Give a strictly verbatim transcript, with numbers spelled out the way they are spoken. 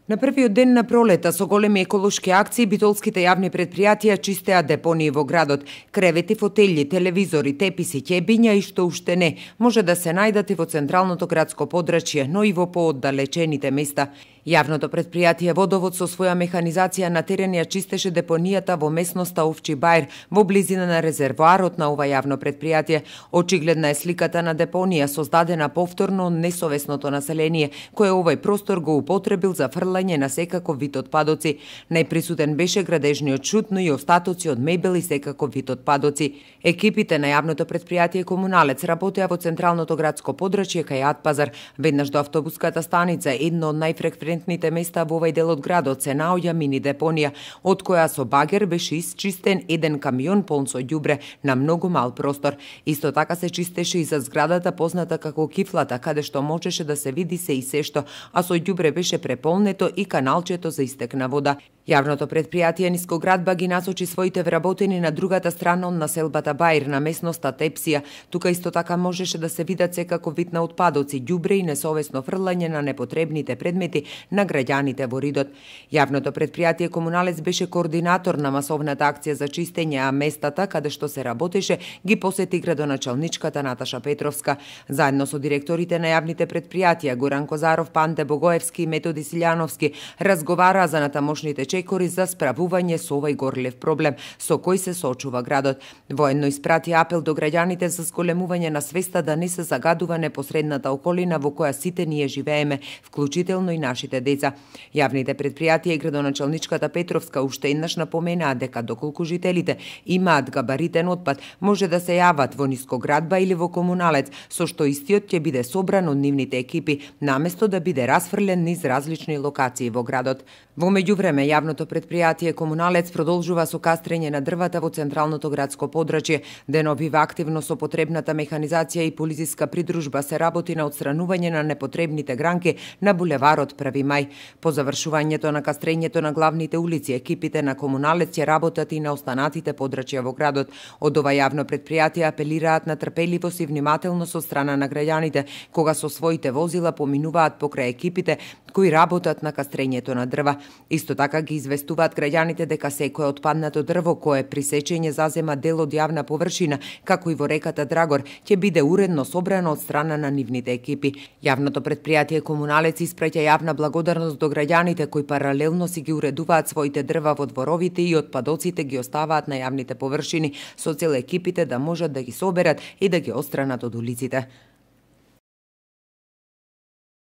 На првиот ден на пролета со големи еколошки акции битолските јавни предпријатија чистеа депонии во градот. Кревети, фотели, телевизори, теписи, ќебиња и што уште не може да се најдат и во централното градско подрачје, но и во пооддалечените места. Јавното предпријатие Водовод со своја механизација на терен ја чистеше депонијата во местноста Овчи Бајр, во близина на резервоарот на ова јавно предпријатие. Очигледна е сликата на депонија создадена повторно од несовесното население, кое овој простор го употребил за фрлање на секаков вид отпадоци. Најприсутен беше градежниот шут, но и остатоци од мебел и секаков вид отпадоци. Екипите на јавното предпријатие Комуналец работеа во централното градско подрачје кај Атпазар. Веднаш до автобуската станица, едно од најфреквентните места во овој дел од градот, се наоѓа мини депонија, од која со багер беше исчистен еден камион полн со ѓубре на многу мал простор. Исто така се чистеше и за зградата позната како кифлата, каде што можеше да се види се и се што, а со ѓубре беше преполнето и каналчето за истек на вода. Јавното предпријатие Нискоградба ги насочи своите вработени на другата страна од населбата Бајр, на местноста Тепсија. Тука исто така можеше да се видат секаков вид на отпадоци, ѓубре и несовесно фрлање на непотребните предмети на граѓаните во Ридот. Јавното предпријатие Комуналец беше координатор на масовната акција за чистење, а местата каде што се работеше ги посети градоначалничката Наташа Петровска. Заедно со директорите на јавните предпријатија Горан Козаров, Панте Богоевски и Методи Силјановски разговараа за натамошните чекори за справување со овој горлев проблем со кој се соочува градот. Воедно испрати апел до граѓаните за зголемување на свеста да не се загадува непосредната околина во која сите ние живееме, вклучително и нашите деца. Јавните предпријатија и градоначалничката Петровска уште еднаш напоменаа дека доколку жителите имаат габаритен отпад, може да се јават во Нискоградба или во Комуналец, со што истиот ќе биде собран од нивните екипи, наместо да биде расфрлен низ различни локации во градот. Во меѓувреме, јавното предпријатие Комуналец продолжува со кастрење на дрвата во централното градско подрачје. Деновива активно со потребната механизација и полициска придружба се работи на отстранување на непотребните гранки на булеварот Први мај. По завршувањето на кастрењето на главните улици, екипите на Комуналец ќе работат и на останатите подрачја во градот. Од ова јавно предпријатие апелираат на трпеливост и внимателност од страна на граѓаните, кога со своите возила поминуваат покрај екипите кои работат на кастрењето на дрва. Исто така ги известуваат граѓаните дека секое отпаднато дрво кое при сечење зазема дел од јавна површина, како и во реката Драгор, ќе биде уредно собрано од страна на нивните екипи. Јавното предпријатие Комуналец испраќа јавна благодарност до граѓаните кои паралелно си ги уредуваат своите дрва во дворовите и отпадоците ги оставаат на јавните површини со цел екипите да можат да ги соберат и да ги отстранат од улиците.